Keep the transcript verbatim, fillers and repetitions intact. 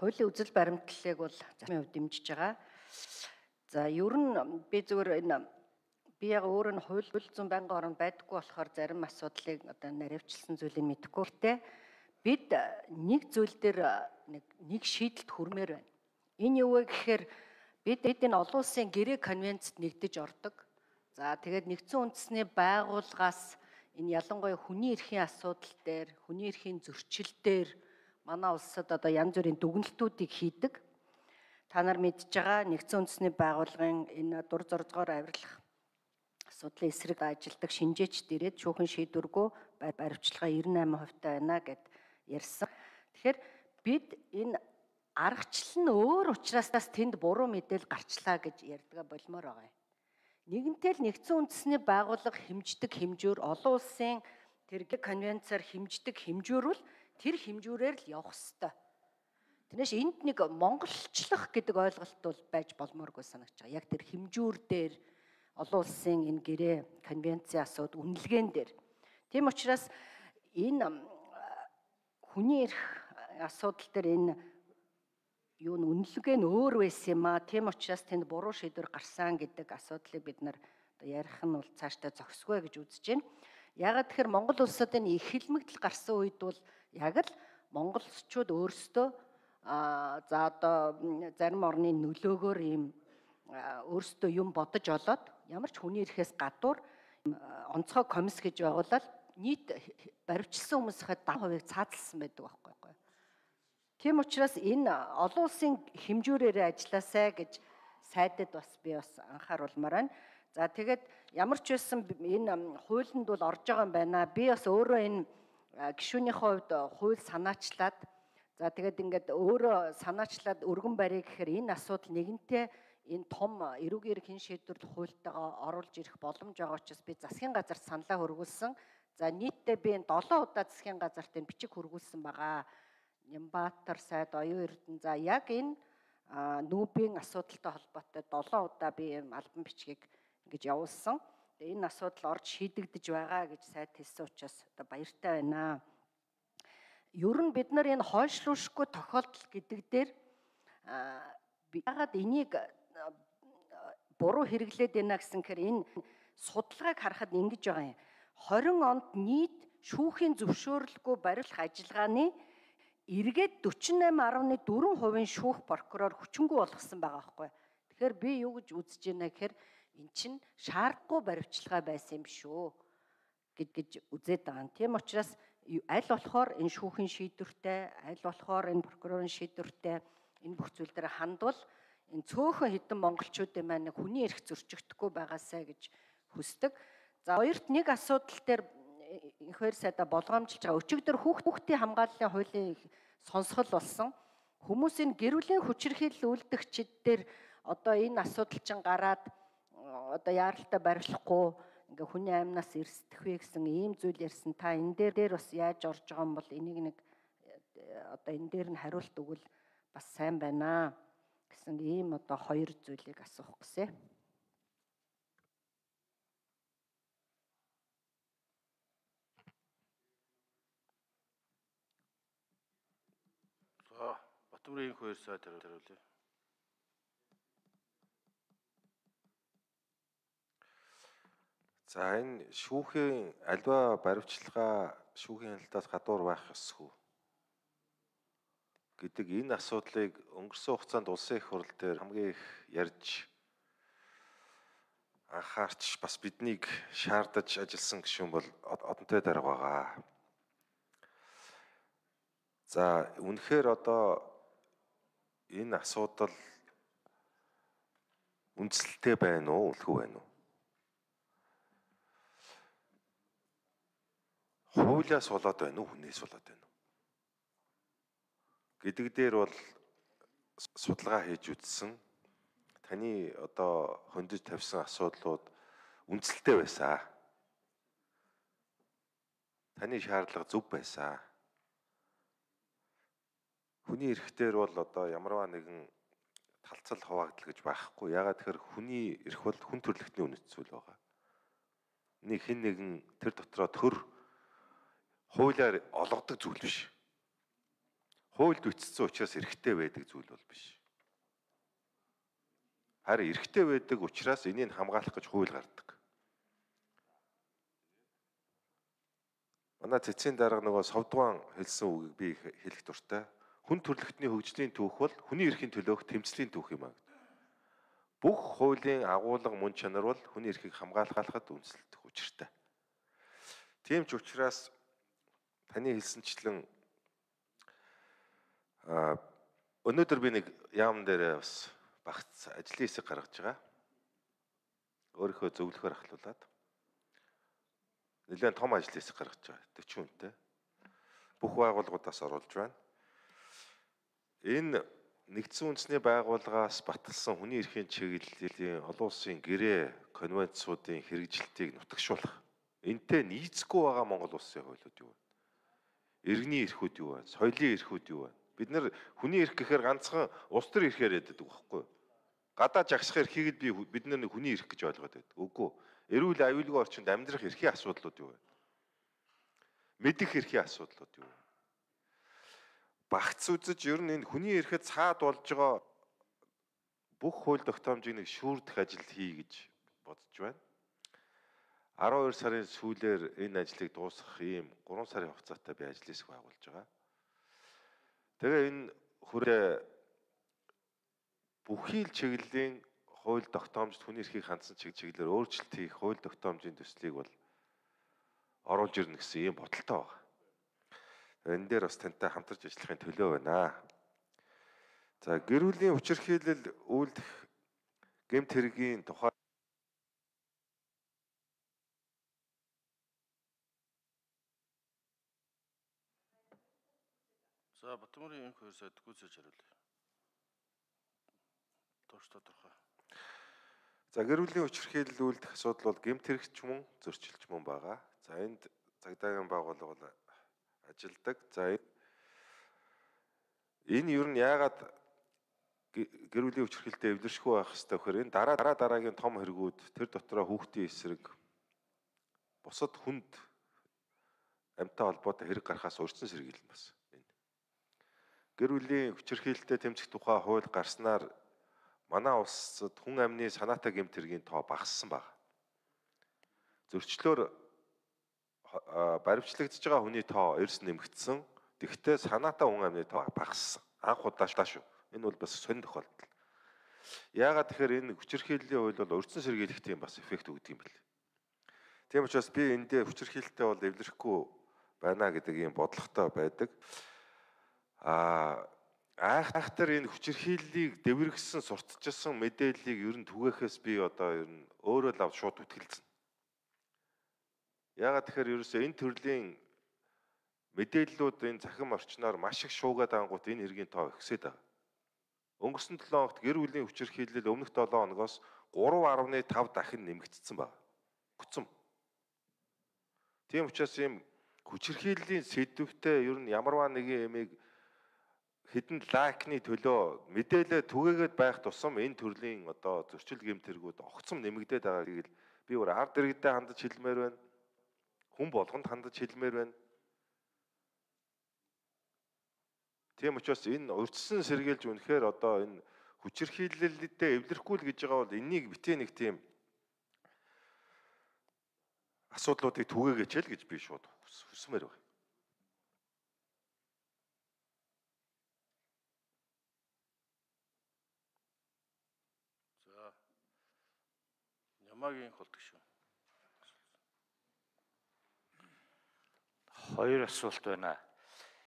хуулийн үзэл баримтлалыг бол засгийн хувьд дэмжиж байгаа. За ер нь би зөвөр энэ би яг өөр нь хууль зүйн байнгын орнд байдаггүй болохоор зарим асуудлыг одоо наривчлсан зүйлийг мэдэхгүй. Гэтэ бид нэг зүйл дээр нэг нэг шийдэлд хүрмээр байна. Энэ юу вэ гэхээр бид бид энэ олон улсын гэрээ конвенцэд нэгдэж ордог. За тэгээд нэгдсэн үндэсний байгууллагаас энэ ялангуяа хүний эрхийн асуудал дээр, хүний эрхийн зөрчил дээр манай улсад одоо янз бүрийн дүгнэлтүүдийг хийдэг. Та нар мэдж байгаа нэгдсэн үндэсний байгууллагын энэ дур зорилгоор авирлах асуудлын эсрэг ажилдаг шинжээчд ирээд шүүхэн шийдвэргүй баривчлага девяносто восемь хувьтай байна гэд ярьсан. Тэгэхээр бид энэ аргачлал нь өөр учраас тэнд буруу мэдээлэл гарчлаа гэж ярьдгаа болмоор байгаа юм. Нэгэнтэй л нэгдсэн үндэсний байгууллага хэмждэг хэмжүүр олон улсын тэр конвенцаар хэмждэг хэмжүүр бол тэр хэмжүүрээр л явах ёстой. Тэрнээс энд нэг монголчлох гэдэг ойлголт бол байж болмооргүй санагч байгаа. Яг тэр хэмжүүр дээр олон улсын энэ гэрээ конвенцийн асууд үнэлгээн дээр. Тийм учраас энэ хүний эрх асуудал дээр энэ юу н үнэлгээ нь өөр байсан юм аа. Тийм учраас тэнд буруу шийдвэр гарсан гэдэг асуудлыг бид нар одоо ярих нь бол цаашдаа зохисгүй гэж үзэж байна. Яагаад тэгэхээр Монгол улсад энэ их хэлмэгдэл гарсан үед бол яг л монголчууд өөрсдөө а за одоо зарим орны нөлөөгөөр ийм өөрсдөө юм бодож олоод ямар ч хүний эрхээс гадуур онцгой комисс гэж байгуулаад нийт баривчилсан хүмүүсийн дам хувийг цаазалсан байдаг байхгүй. Тийм учраас энэ олон улсын хэмжүүрээр ажилласаа гэж сайдад бас би бас анхааруулмаар байна. За тэгээд ямар ч байсан энэ хуулинд бол орж байгаа юм байна. Би бас өөрөө энэ гишүүнийхээ хувьд хууль санаачлаад за тэгээд ингээд өөрөө санаачлаад өргөн барья гэхээр энэ асуудал нэгэнтээ энэ том эрүүгийн эрхийн шийдвэрлэх хуультайгаа оруулж ирэх боломж байгаа учраас би засгийн газарт саналаа хөргүүлсэн. За нийтдээ би энэ долоо удаа засгийн газарт энэ бичиг хөргүүлсэн байгаа. Нямбатар сайд оюун эрдэнэ за яг энэ нүүбийн асуудалтай холбоотой долоо удаа би энэ албан бичгийг ингэж явуулсан. Тэгээ энэ асуудал орж шийдэгдэж байгаа гэж сайд хэлсэн учраас одоо баяртай байна. Ер нь бид нар энэ хойшлуулшгүй тохиолдол гэдэг дээр яагаад энийг буруу хэрэглээд байна гэсэн хэрэг энэ судалгааг харахад ингэж байгаа юм. хорин онд нийт шүүхийн зөвшөөрлгүй барилах ажиллагааны эргээд forty-eight point four хувийн шүүх прокурор хүчингүй болгосон байгаа байхгүй. Тэгэхээр би юу гэж үзэж байна гэхээр эн чинь шаардлагагүй баривчилгаа байсан юм шүү гэж гэж үзээд байгаа. Тийм учраас аль болохоор энэ шүүхийн шийдвэртэй, аль болохоор энэ прокурорын шийдвэртэй энэ бүх зүйл дээр хандвал энэ цөөхөн хэдэн монголчуудын маань хүний эрх зөрчигдөхгүй байгаасаа гэж хүсдэг. За хоёрт нэг асуудал дээр их хоёр сайда болгоомжилж байгаа. Өчигдөр хүүхдийн хамгааллын хуулийн сонсгол болсон. Хүмүүсийн гэр бүлийн хүчирхийлэл үйлдэгчид дээр одоо энэ асуудал чинь гараад одоо яаралтай барилахгүй ингээ хүний аймнаас эрсдэх вэ гэсэн ийм зүйл ярьсан. Та энэ дээр дээр бас яаж орж байгаа юм бол энийг нэг одоо энэ дээр нь хариулт өгвөл бас сайн байна гэсэн ийм одоо хоёр зүйлийг асуух гэсэн. За Батбүрийн хоёр сайд хариулъя. За энэ шүүхийн альва баривчилгаа шүүхийн хяналтаас гадуур байх ёсгүй гэдэг энэ асуудлыг өнгөрсөн хугацаанд улсын их хурл дээр хамгийн их ярьж анхаарч бас биднийг шаардаж ажилласан гишүүн бол одонтой дарга байгаа. За үнэхээр одоо энэ асуудал үндсэлтэй байна уу, үлгүй байна уу? Хуулиас болоод байна уу, хүнээс болоод байна уу гэдэг дээр бол судалгаа хийж үзсэн. Таны одоо хөндөж тавьсан асуудлууд үндсэлтэй байсан. Таны шаардлага зөв байсан. Хүний эрхтэр бол одоо ямарваа нэгэн талцал хуваагдал гэж байхгүй. Ягаад тэгэхээр хүний эрх бол хүн төрөлхтний үнэт зүйл байгаа. Нэг хэн нэгэн тэр дотроо төр хуулиар олгодог зүйл биш. хуульд бичсэн учраас эрхтэй байдаг зүйл бол биш. Харин эрхтэй байдаг учраас энийг хамгаалах гэж хууль гардаг. Манай цэцгийн дарга нөгөө Совдгуан хэлсэн үгийг би хэлэх дуртай. Хүн төрөлхтний хөгжлийн түүх бол хүний эрхийн төлөөх тэмцлийн түүх юм аа. Бүх хуулийн агуулга мөн чанар бол хүний эрхийг хамгаалахад үндэслэх учиртай. Тийм ч учраас таны хэлсэнчлэн а өнөөдөр би нэг яам дээр бас багц ажлын хэсэг гаргаж байгаа. Өөрийнхөө зөвлөхөөр ахлуулаад нэлээд том ажлын хэсэг гаргаж байгаа. дөрвөн хүнтэй. Бүх байгууллагуудаас оруулж байна. Энэ нэгдсэн үндэсний байгууллагаас баталсан хүний эрхийн чиглэлийн олон улсын гэрээ конвенцуудын хэрэгжилтийг нутагшуулах. Энтэй нийцгүй байгаа Монгол улсын хуулиуд юу вэ? Иргэний эрхүүд юу вэ? Соёлын эрхүүд юу вэ? Бид нэр хүний эрх гэхээр ганцхан улс төр эрхээр яддаг байхгүй юу? Гадаа жагсах эрхийг л би бид нар нэг хүний эрх гэж ойлгоод байдаг. Үгүй. Эрүүл аюулгүй орчинд амьдрах эрхийн асуудлууд юу вэ? Мэдэх эрхийн асуудлууд юу вэ? Багц үзэж ер нь энэ хүний эрхэд цаад болж байгаа бүх хууль тогтоомжийг нэг шүүрдэх ажил хий гэж бодож байна. арван хоёр сарын сүүлээр энэ ажлыг дуусгах ийм гурван сарын хугацаатай би ажлын хэсэг байгуулж байгаа. Тэгээ энэ хүрээ бүхий л чиглэлийн хууль тогтоомжид хүний эрхийг хандсан чиглэлээр өөрчлөлт хийх хууль тогтоомжийн төслийг бол оруулж ирнэ гэсэн ийм бодолтой байна. Энэ дээр бас тантай хамтарч ажиллахын төлөө байна. За гэр бүлийн хүчирхийлэл үйлдэх гэмт хэргийн тухай За Батмөрийн энэ хоёр сайд гүйцэж хариулъя. Тоош тодорхой. За гэр бүлийн хүчирхийлэл үйлдэх асуудал бол гэмт хэрэгч мөн зөрчилч мөн байгаа. За энд цагдаагийн байгууллага бол ажилдаг. За энэ ер нь яагаад гэр бүлийн хүчирхийлэлтэй эвлэршгүй байх хэрэгтэй вэхээр энэ дараа дараа дараагийн том хэрэгүүд тэр дотроо хүүхдийн эсрэг бусад хүнд амьтаа холбоотой хэрэг гарахаас урьдчилан сэргийлнэ бас. Гэр бүлийн хүчирхийлэлтэй тэмцэх тухай хууль гарснаар манай улсад хүн амны санаатай гэмт хэргийн тоо багассан баг. Зөрчлөөр баримтлагдж байгаа хүний тоо эрс нэмэгдсэн. Тэгвэл санаатай хүн амны тоо багассан. Анх удааштай шүү. Энэ бол бас сонир тохиолдол. Яагаад тэгэхээр энэ хүчирхийллийн хууль бол урьдчилан сэргийлэх тийм бас эффект өгдөг юм бэл. Тийм учраас би энэ дээр хүчирхийлэлтэй бол эвлэрэхгүй байна гэдэг ийм бодлоготой байдаг. Аа айхтар энэ хүчирхийллийг дэвэргэсэн сурталчилсан мэдээллийг ер нь түгээхээс би одоо ер нь өөрөө л авч шууд үтгэлцэн. Яагаад тэгэхээр ерөөсөө энэ төрлийн мэдээллүүд энэ захим орчноор маш их шуугаад ангуут энэ хэргийн тоо ихсээд байгаа. Өнгөрсөн долоо хоногт гэр бүлийн хүчирхийлэл өмнөх долоо хоногоос гурав гаруй тав дахин нэмэгдсэн байна. Хүцэн. Тийм учраас ийм хүчирхийллийн сэдвүүтэй ер нь ямарваа нэгэн ямиг хэдэн лайкны төлөө мэдээлэл түгээгээд байх тусам энэ төрлийн одоо зөрчил гэмтэргүүд огцом нэмэгдээд байгааг л би өөр ард иргэдэд хандаж хэлмээр байна. Хүн болгонд хандаж хэлмээр байна. Тийм учраас энэ урьдчилан сэргийлж үнэхээр одоо энэ хүчирхийлэлтэй эвлэрэхгүй л гэж байгаа бол энийг битээ нэг тийм асуудлуудыг түгээгээч л гэж би шууд хүсмээр байна. Ямагийн холдог шүү. Хоёр асуулт байна.